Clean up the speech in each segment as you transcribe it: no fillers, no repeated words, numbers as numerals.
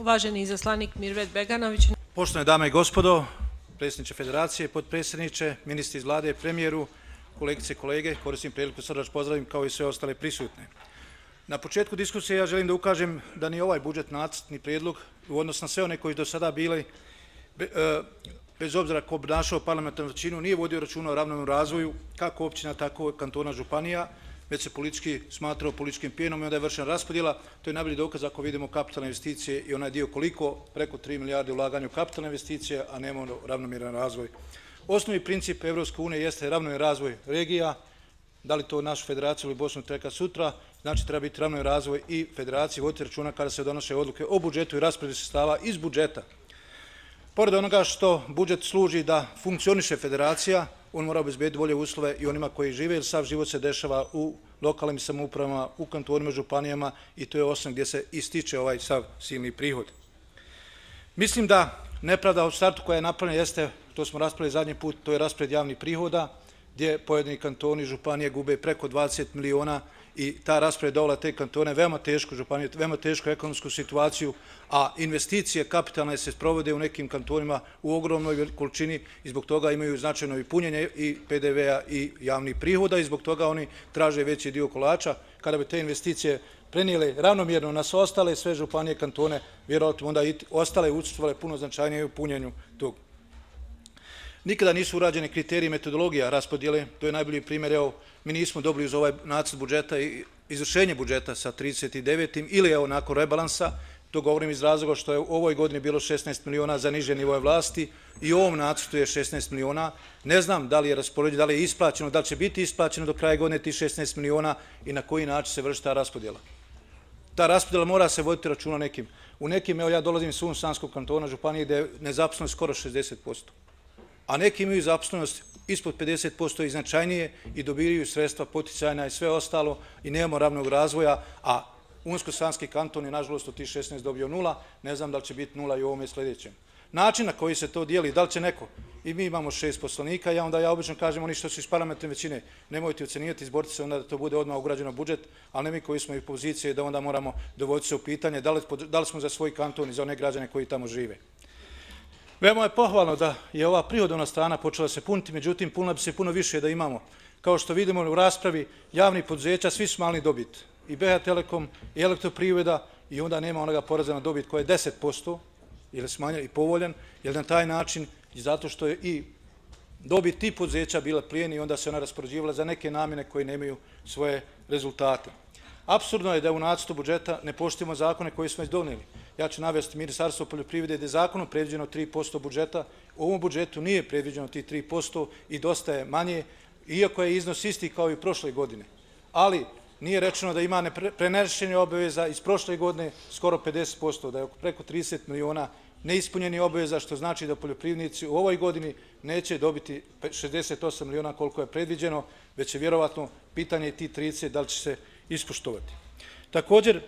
Uvaženi izaslanik Mirvet Beganović. Poštovane dame i gospodo, predsjedniče Federacije, potpredsjedniče, ministri iz vlade, premijeru, kolegice i kolege, koristim priliku srdačno pozdravim kao i sve ostale prisutne. Na početku diskusije ja želim da ukažem da ni ovaj budžet nacrt ni prijedlog u odnosu na sve one koji do sada bili, bez obzira ko obnašao parlamentarnu većinu, nije vodio računa o ravnomjernom razvoju kako općina, tako kantona, županija, već se politički smatrao političkim plijenom i onda je vršena raspodjela. To je najbolji dokaz ako vidimo kapitalne investicije i onaj dio koliko, preko 3 milijarde ulaganja u kapitalne investicije, a nemamo ravnomjeran razvoj. Osnovni princip Evropske unije jeste ravnomjeran razvoj regija, da li to našu federaciju ili Bosnu čeka sutra, znači treba biti ravnomjeran razvoj i federaciji, voditi računa kada se donose odluke o budžetu i raspodjeli sredstava iz budžeta. Pored onoga što budžet služi da funkcioniše federacija, on mora obezbediti bolje uslove i onima koji žive, jer sav život se dešava u lokalnim samoupravama, u kantonima, županijama i to je osnov gdje se ističe ovaj sav silni prihod. Mislim da nepravda od startu koja je napravljena jeste, to smo raspravili zadnji put, to je raspored javnih prihoda, gdje pojedini kantoni i županije gube preko 20 miliona i ta raspored dovela te kantone veoma teško županije, veoma tešku ekonomsku situaciju, a investicije kapitalne se sprovode u nekim kantonima u ogromnoj količini i zbog toga imaju značajno i punjenje i PDV-a i javnih prihoda i zbog toga oni traže veći dio kolača. Kada bi te investicije prenijele ravnomjerno na ostale sve županije, kantone, vjerojatno onda i ostale učestvovale puno značajnije u punjenju tog. Nikada nisu urađeni kriteriji metodologija raspodjele, to je najbolji primjer, evo, mi nismo dobili uz ovaj nacrt budžeta i izvršenje budžeta sa 39. ili evo nakon rebalansa, to govorim iz razloga što je u ovoj godini bilo 16 miliona za niže nivoje vlasti i u ovom nacrtu je 16 miliona. Ne znam da li je raspoređeno, da li je isplaćeno, da li će biti isplaćeno do kraja godine ti 16 miliona i na koji način se vrši ta raspodjela. Ta raspodjela mora se voditi računa nekim. U nekim, evo ja dolazim iz Sanskog kantona, županije gdje je nezaposlenost skoro 60%. A neki imaju zaposlenost ispod 50% i značajnije i dobijaju sredstva poticajna i sve ostalo i nemamo ravnog razvoja, a Unsko-Sanski kanton je nažalost od tih 16 dobio 0, ne znam da li će biti 0 i u ovome sljedećem. Način na koji se to dijeli, da li će neko, i mi imamo 6 poslanika, ja obično kažem oni što su iz parlamentarne većine, nemojte ocenivati, izboriti se onda da to bude odmah ugrađeno u budžet, ali ne mi koji smo i pozicije da onda moramo dovoditi se u pitanje da li smo za svoj kanton i za one građane koji tamo žive. Veoma je pohvalno da je ova prihodovna strana počela se puniti, međutim punila bi se puno više da imamo. Kao što vidimo u raspravi javnih poduzeća, svi su mali dobit. I BH Telekom, i Elektroprivreda, i onda nema onoga poreza na dobit koja je 10%, ili smanjen i povoljan, jer na taj način, zato što je i dobit tih poduzeća bila plijeni i onda se ona raspoređivala za neke namjene koje nemaju svoje rezultate. Apsurdno je da u nacrtu budžeta ne poštujemo zakone koje smo već donijeli. Ja ću navesti Ministarstvo poljoprivrede gdje je zakonom predviđeno 3% budžeta. U ovom budžetu nije predviđeno tih 3% i dosta je manje, iako je iznos isti kao i prošle godine. Ali nije rečeno da ima prenešenje obaveza iz prošle godine skoro 50%, da je preko 30 miliona neispunjenih obaveza, što znači da poljoprivrednici u ovoj godini neće dobiti 68 miliona koliko je predviđeno, već je vjerovatno pitanje tih 30 da li će se ispoštovati. Također,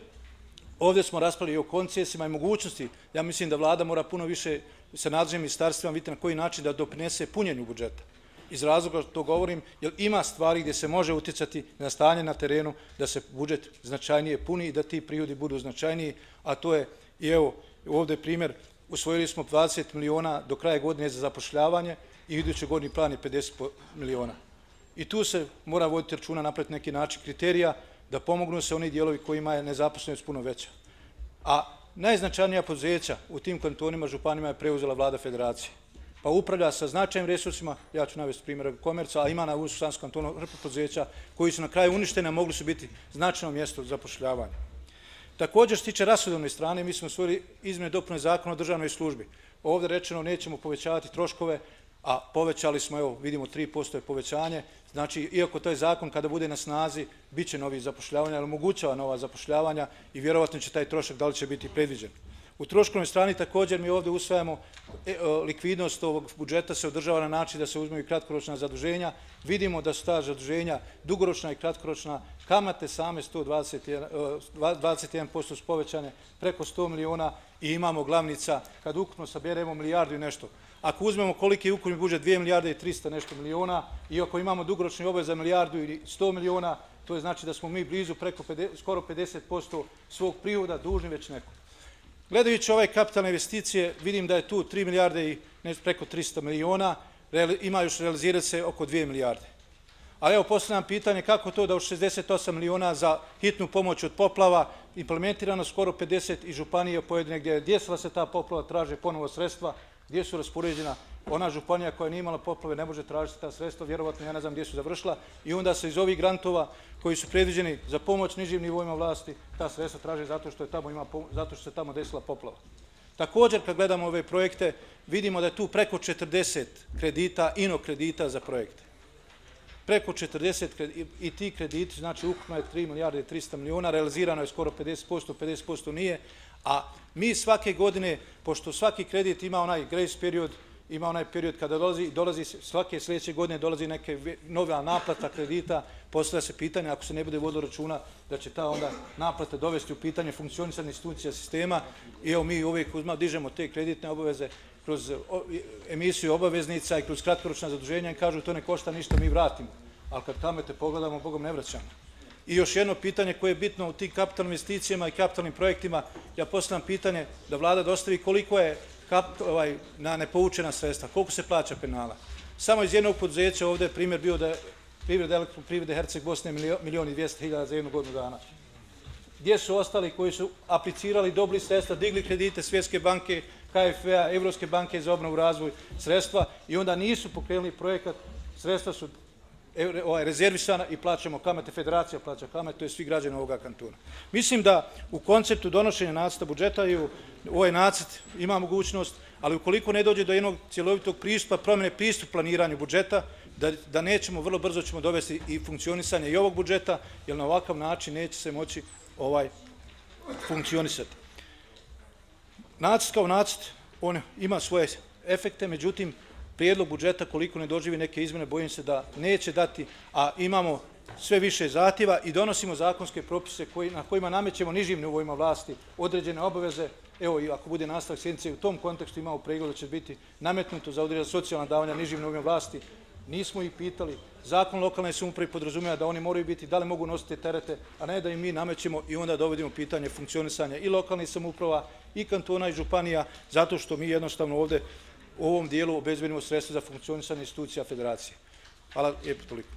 ovdje smo raspravili o koncesijama i mogućnosti. Ja mislim da vlada mora puno više sa nadležnim ministarstvima vidjeti na koji način da doprinese punjenju budžeta. Iz razloga to govorim, jer ima stvari gdje se može utjecati na stanje na terenu, da se budžet značajnije puni i da ti prihodi budu značajniji, a to je, i evo, ovdje primjer, usvojili smo 20 miliona do kraja godine za zapošljavanje i iduće godini plan je 50 miliona. I tu se mora voditi računa, napraviti neki način kriterija, da pomognu se oni dijelovi kojima je nezaposlenost puno veća. A najznačajnija poduzeća u tim kantonima, županima je preuzela vlada federacije. Pa upravlja sa značajnim resursima, ja ću navesti primjer Komerca, a ima na Unsko-Sanskom kantonu hrpu poduzeća koji su na kraju uništene, a mogli su biti značajno mjesto zapošljavanja. Također, što se tiče rashodovne strane, mi smo usvojili izmjene i dopune zakona o državnoj službi. Ovdje rečeno nećemo povećavati troškove, a povećali smo, evo, vidimo 3% je povećanje. Znači, iako to je zakon kada bude na snazi, bit će novi zapošljavanja, ali omogućava nova zapošljavanja i vjerovatno će taj trošak da li će biti predviđen. U troškovnoj strani također mi ovdje usvajamo likvidnost ovog budžeta se održava na način da se uzmeju kratkoročna zaduženja. Vidimo da su ta zaduženja dugoročna i kratkoročna, kamate same 21% su povećane, preko 100 miliona i imamo glavnica, kad ukupno saberemo milijardu i nešto. Ako uzmemo koliki je ukupni budžet 2 milijarde i 300 nešto miliona i ako imamo dugoročni obavez za milijardu ili 100 miliona, to je znači da smo mi blizu preko skoro 50% svog prihoda dužni već neko. Gledajući ove kapitalne investicije, vidim da je tu 3 milijarde i preko 300 miliona, ima još realizirati se oko 2 milijarde. Ali evo postavljam pitanje kako to da od 68 miliona za hitnu pomoć od poplava implementirano skoro 50 i županije pojedine gdje je desila se ta poplava, traže ponovo sredstva, gdje su raspoređena. Ona županija koja nije imala poplave ne može tražiti ta sredstva, vjerovatno ja ne znam gdje su završila i onda se iz ovih grantova koji su predviđeni za pomoć nižim nivoima vlasti, ta sredstva traže zato što se tamo desila poplava. Također, kad gledamo ove projekte, vidimo da je tu preko 40 kredita, kredita za projekte. Preko 40 i ti krediti, znači ukupno je 3 milijarde i 300 miliona, realizirano je skoro 50%, 50% nije, a mi svake godine, pošto svaki kredit ima onaj grace period, ima onaj period kada dolazi svake sljedeće godine dolazi neke nova naplata kredita, postavlja se pitanje ako se ne bude vodilo računa da će ta onda naplata dovesti u pitanje funkcionisanja institucija sistema i evo mi uvijek dižemo te kreditne obaveze kroz emisiju obaveznica i kroz kratkoročna zaduženja i kažu to ne košta ništa, mi vratimo. Ali kad kamate pogledamo, Bogom ne vraćamo. I još jedno pitanje koje je bitno u tim kapitalnim investicijama i kapitalnim projektima, ja postavljam pitanje da vlada dostavi koliko je na nepoučena sredstva, koliko se plaća penala. Samo iz jednog poduzeća ovdje je primjer bio da je Elektroprivrede Herceg Bosne 1.200.000 za jednu godinu dana. Gdje su ostali koji su aplicirali, dobili sredstva, digli kredite Svjetske banke, KFV-a, Evropske banke za obnovu i razvoj sredstva i onda nisu pokrenuli projekat, sredstva su rezervisana i plaćamo kamate, federacija plaća kamate, to je svi građani ovoga kantona. Mislim da u konceptu donošenja nacrta budžeta i u ovaj nacrt ima mogućnost, ali ukoliko ne dođe do jednog cjelovitog pristupa, promjene pristup planiranju budžeta, da nećemo, vrlo brzo ćemo dovesti i funkcionisanje i ovog budžeta, jer na ovakav način neće se moći funkcionisati. Nacrt kao nacrt, on ima svoje efekte, međutim, prijedlog budžeta, koliko ne doživi neke izmjene, bojim se da neće dati, a imamo sve više zahtjeva i donosimo zakonske propise na kojima namećemo nižim nivoima vlasti određene obaveze. Evo, i ako bude nastavak sjednice, u tom kontekstu imamo pregled da će biti nametnuto za određena socijalna davanja nižim nivoima vlasti. Nismo ih pitali. Zakon lokalne samouprave podrazumijeva da oni moraju biti, da li mogu nositi terete, a ne da im mi namećemo i onda dovodimo pitanje funkcionisanja i lokalnih samouprava, i kantona, i županija, zato što mi jednostavno ovdje u ovom dijelu obezbedimo sredstva za funkcionisanje institucija federacije. Hvala lijepo toliko.